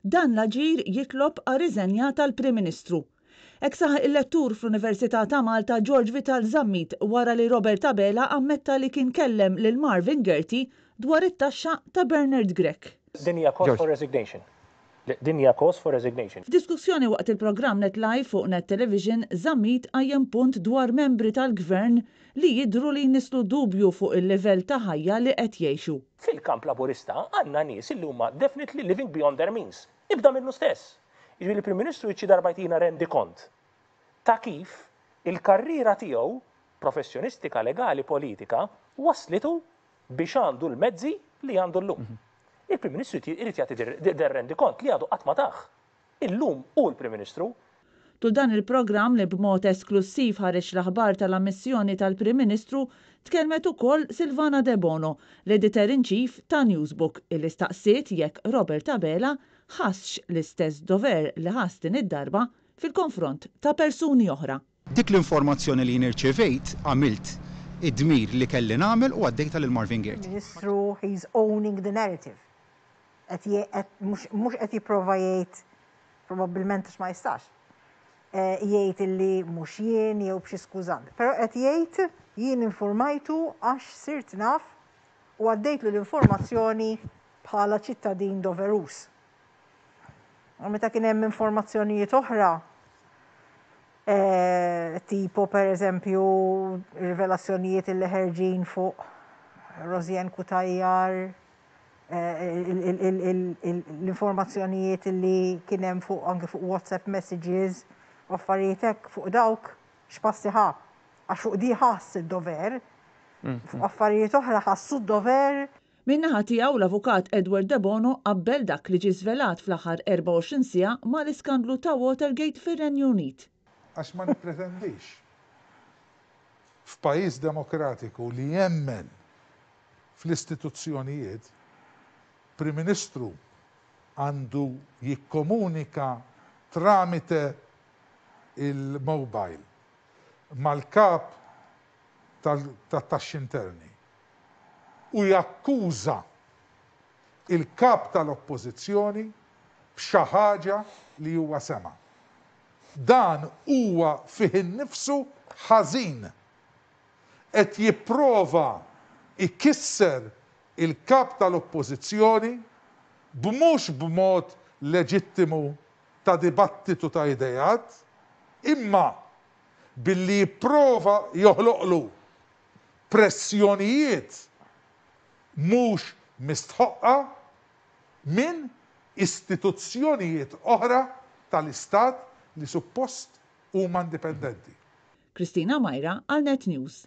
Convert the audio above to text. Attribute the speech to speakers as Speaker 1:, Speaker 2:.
Speaker 1: Dan l-aġir jitlob għar-riżenja tal-Prim Ministru. Hekk saħaq il-lettur fl-Università ta' Malta George Vital Zammit wara li Robert Abela ammetta li kien kellem lil Marvin Gaerty dwar it-taxxa ta' Bernard Grech.
Speaker 2: Din hija cause for resignation. Din hija cause for resignation.
Speaker 1: F'diskussjoni waqt il-programm Net Live fuq Net Television, Zammit qajjem punt dwar membri tal-Gvern li jidhru li jnisslu dubju fuq il-livell ta' ħajja li qed jgħixu.
Speaker 2: Fil-kamp Laburista għandna nies li huma definitely living beyond their means. Ibda minnu stess. Jiġifieri l-Prim Ministru jrid xi darba jtina rendikont ta' kif il-karriera tiegħu professjonistika, legali, politika wasslitu biex għandu l-mezzi li għandu llum. Il-Prim Ministru jrid jagħti der rendikont li għadu qatt ma tah. Illum hu l-Prim Ministru.
Speaker 1: Tul dan il-programm li b'mod esklussiv ħareġ l-aħbar tal-ammissjoni tal-Prim Ministru, tkellmet ukoll Sylvana Debono, l-Editor in Chief ta' Newsbook, illi staqsiet jekk Robert Abela ħassx l-istess dover li ħass din id-darba fil-konfront ta' persuni oħra.
Speaker 3: Dik l-informazzjoni li jien irċevejt għamilt id-dmir li kelli nagħmel u għaddejtha lil Marvin Gaerty.
Speaker 4: Ministru he's owning the narrative. Qed mhux qed jipprova jgħid probabbilment għax ma jistax. Jgħid illi mhux jien jew b'xi skużant. Però qed jgħid jien infurmajtu għax sirt naf u għaddejtlu l-informazzjoni bħala ċittadin doveruż. U meta kien hemm informazzjonijiet oħra, tipo per eżempju rivelazzjonijiet illi ħerġin fuq Rosianne Cutajar, l-informazzjonijiet illi kien hemm fuq anke fuq WhatsApp messages u affarijiet hekk fuq dawk x'passi ħa. Għax fuq di ħass id-dover, fuq affarijiet oħra ħassu d-dover.
Speaker 1: Min-naħa tiegħu l-Avukat Edward Debono qabbel dak li ġie żvelat fl-aħħar 24 siegħa mal-iskandlu ta' Watergate fir-Renju Unit.
Speaker 5: Għax ma nippretendix f'pajjiż demokratiku li jemmen fl-istituzzjonijiet, Prim Ministru għandu jikkomunika tramite il-mobile mal-kap tat-taxxi interni u jakkuża il-Kap tal-Oppożizzjoni b'xi ħaġa li huwa sema'. Dan huwa fih innifsu ħażin. Qed jipprova jkisser il-Kap tal-Oppożizzjoni b'mhux b'mod leġittimu ta' dibattitu ta' ideat, imma billi jipprova joħloqlu pressjonijiet mhux mistħoqqa minn istituzzjonijiet oħra tal-Istat li suppost huma indipendenti.
Speaker 1: Christina Myra għal Net News.